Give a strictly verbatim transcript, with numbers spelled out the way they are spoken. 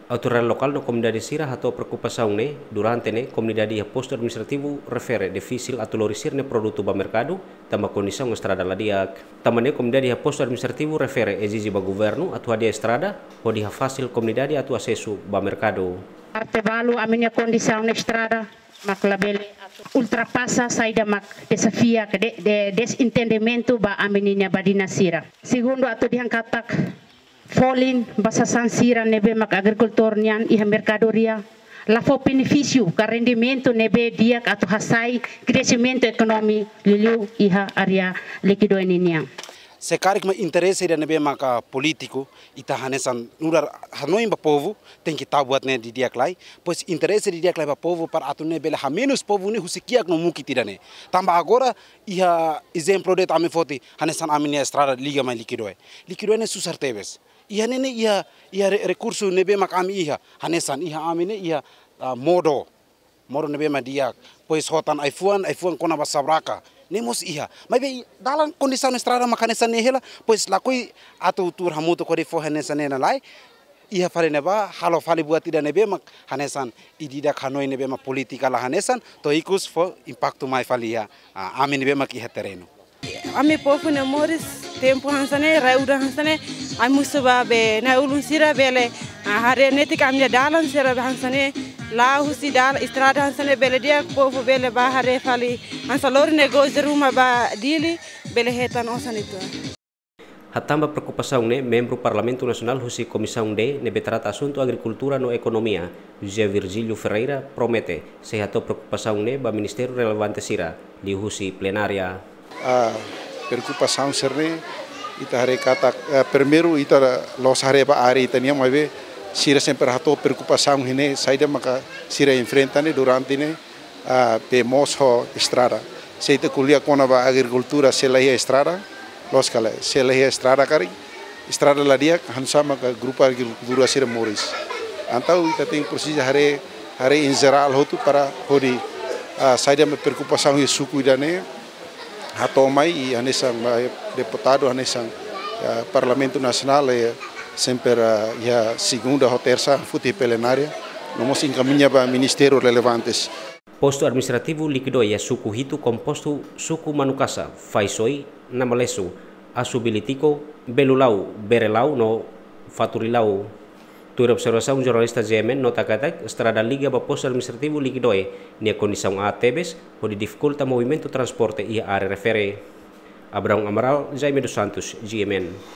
Autoridade lokál no komunidade sira hato'o preokupasaun ne'e durante ne'e komunidade iha postu administrativu refere difisil atu lori sira-nia produtu ba merkadu, tanba kondisaun estrada la di'ak. Tanba ne'e komunidade iha postu administrativu refere ezije ba governu atu hadi'a estrada, hodi hafasil komunidade atu asesu ba merkadu. Parte balu ami-nia kondisaun estrada mak labele atu ultrapasa saida mak dezafiu ka de, de, dezentendimentu ba ami-nia badinas sira. Segundu atu dehan katak folin ba sasán sira ne'ebé mak agrikultór nian iha merkadoria, la fó benefísiu ka rendimentu ne'ebé di'ak atu hasai kresimentu ekonomia liuliu iha área Liquidoe ninian. Se karik mak interese ida ne'ebé maka polítiku, ita hanesan nu'udar hanoin ba povu, tenke tau buat ne'e didi'ak lai, pois interese didi'ak lai ba povu para atu ne'e bele hamenus povu ne'e husi kiak no mukit ida-ne'e. Tanba agora, iha ezemplu de'it ami foti, hanesan ami-nia estrada liga mai Liquidoe. Liquidoe ne'e susar tebes. Iha ne'e ne'e iha, iha re-, rekursu ne'ebé mak ami iha, hanesan iha ami ne'e iha, ah, modo. Modo ne'ebé mak di'ak, pois hotan ai-fuan, ai-fuan kona ba sabraka. Ne'e mós iha. Maibé dalan kondisaun estrada mak hanesan ne'e hela, pois lakohi atu tuur hamutuk hodi fó hanesan ne'e lai. Iha fali ne'ebá, halo fali buat ida ne'ebé mak hanesan ida-idak hanoin ne'ebé mak polítika la hanesan, to'o ikus fó impaktu mai fali iha, ah, ami ne'ebé mak iha terrenu. Ami povu nia moris tempu hanesan ne'e, rai udan hanesan ne'e, ami husu ba be na'i-ulun sira bele, ah, haree netik ami-nia dalan sira be hanesan ne'e, la'o husi dal-, estrada hanesan ne'e bele di'ak povu bele bá haree fali, hanesan lori negósiu ruma ba Dili, bele hetan osan uitoan. Hatán ba preokupasaun ne'e, membru Parlamentu Nasionál husi Komisaun D ne'ebé trata asuntu agrikultura no ekonomia, José Virgílio Ferreira, promete sei hato'o preokupasaun ne'e ba ministériu relevante sira, liuhusi plenária. Ah, preokupasaun sira-ne'e, ita haree katak, eh, primeiru ita la'ós haree ba área ita-nian, maibé sira sempre hato'o preokupasaun iha ne'e, saida maka sira enfrenta ne'e durante ne'e, ah, be moos ho estrada. Se ita ko'alia kona-ba agrikultura, se la iha estrada, loos ka lae, se la iha estrada karik, estrada la di'ak, hanesan ne'e maka grupu agrikultura sira moris. Entaun ita tenke presiza haree, haree em geral hotu para hodi, ah, saida mak preokupasaun iha suku ida-ne'e, hato'o mai i hanesan, ah, deputadu hanesan, ah, Parlamentu Nasionál, eh, sempre, ah, iha segunda ho tersa foti plenária, no mós enkamiña ba ministériu relevantes. Postu administrativu Liquidoe iha suku hitu kompostu suku Manukasa, Faisoi, Namalesu, Asubilitiko, Belulau, Berelau no Faturilau. Tuir observasaun jornalista G M N nota katak estrada liga ba postu administrativu Liquidoe nia kondisaun aat tebes, hodi difikulta movimentu transporte iha área refere. Abraão Amaral, Jaime dos Santos, G M N.